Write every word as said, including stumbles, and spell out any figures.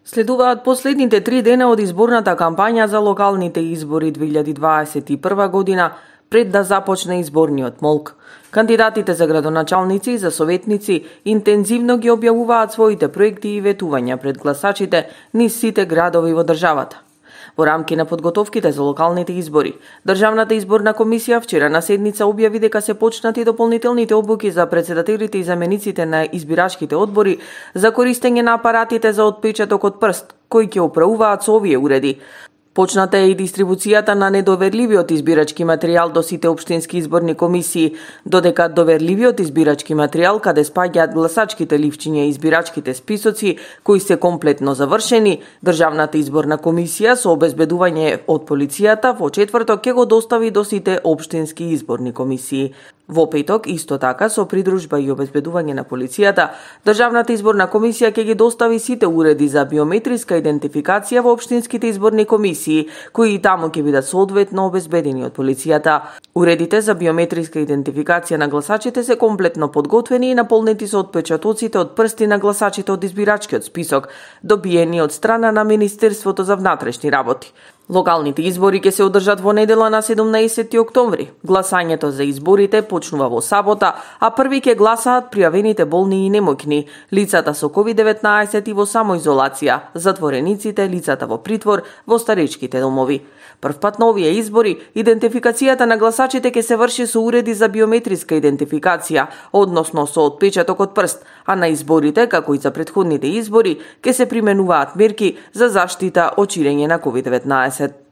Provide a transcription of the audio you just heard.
Следуваат последните три дена од изборната кампања за локалните избори две илјади дваесет и прва година, пред да започне изборниот молк. Кандидатите за градоначалници и за советници интензивно ги објавуваат своите проекти и ветувања пред гласачите низ сите градови во државата. Во рамки на подготовките за локалните избори, Државната изборна комисија вчера на седница објави дека се почнати дополнителните обуки за председателите и замениците на избирачките одбори за користење на апаратите за отпечаток од прст, кои ќе управуваат со овие уреди. Почната е и дистрибуцијата на недоверливиот избирачки материјал до сите општински изборни комисии, додека доверливиот избирачки материјал каде спаѓаат гласачките ливчиња и избирачките списоци, кои се комплетно завршени, Државната изборна комисија со обезбедување од полицијата во четврток ќе го достави до сите општински изборни комисии. Во петок, исто така, со придружба и обезбедување на полицијата, Државната изборна комисија ќе ги достави сите уреди за биометриска идентификација во општинските изборни комисии, кои и таму ќе бидат соодветно обезбедени од полицијата. Уредите за биометриска идентификација на гласачите се комплетно подготвени и наполнети со отпечатоците од прсти на гласачите од избирачкиот список, добиени од страна на Министерството за внатрешни работи. Локалните избори ќе се одржат во недела на седумнаесети октомври. Гласањето за изборите почнува во сабота, а први ќе гласаат пријавените болни и немоќни, лицата со ковид деветнаесет и во самоизолација, затворениците, лицата во притвор, во старечките домови. Првпат на овие избори, идентификацијата на гласачите ќе се врши со уреди за биометриска идентификација, односно со отпечаток од прст, а на изборите, како и за претходните избори, ќе се применуваат мерки за заштита од ширење на ковид деветнаесет.